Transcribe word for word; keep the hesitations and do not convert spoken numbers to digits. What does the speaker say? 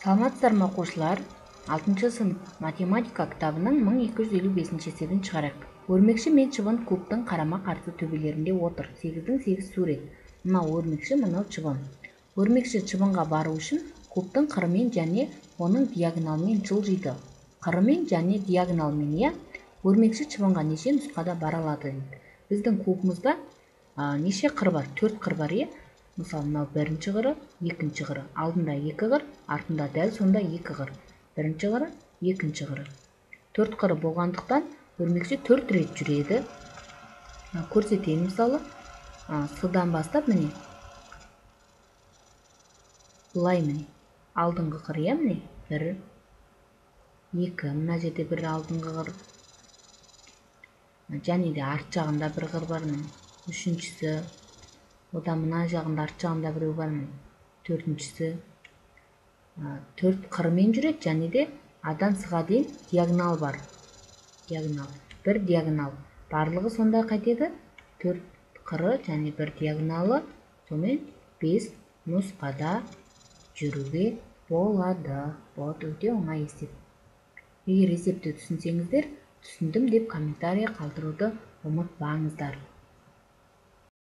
Саламатсыздарбы окуучулар? алтынчы сынып математика китабынын миң эки жүз элүү бешинчи эсебин чыгарайык. Өрмекчи мен чыбын кубтун карама каршы төбөлөрүндө отур. сегиздин сегиз сурет. Мына өрмекчи, мына чыбын. Өрмекчи чыбынга баруу үчүн кубтун кыры менен жана онун диагоналы менен жылжыйт. Кыры менен жана диагонал менен өрмекчи чыбынга нече нускада бара алат дейт. Биздин кубубузда нече кыр бар? төрт кыр бар, э? Мисалы, мына биринчи кыры, экинчи кыры, алдында эки кыр, артында дәл сонда эки кыр. Биринчи кыры, экинчи кыры. төрт кыры болгондуктан өрмекчи төрт ирет жүрөдү. Көрсөтейин, мисалы, Сдан баштап мени. Булай мени. Алдыңкы кыр, э, мени. бир, эки, мына жерде бир алдыңкы кыр. Жана да арт жагында бир кыр бар мени. Үчүнчүсү. Одан мына жагында арт жагында бирөө бар мени. Төртүнчүсү. төрт кыр менен жүрөт, жана да адан сыга дейин диагонал бар. Диагонал. Бир диагонал. Барлыгы сонда кайтеді? төрт кыры жана бир диагоналы сонун беш нускада жүрүүгө болот. Болот, өтө оңай эсеп. Эгер эсепти түшүнсөңүздөр, түшүндүм деп комментарий калтырууду унутпаңыздар.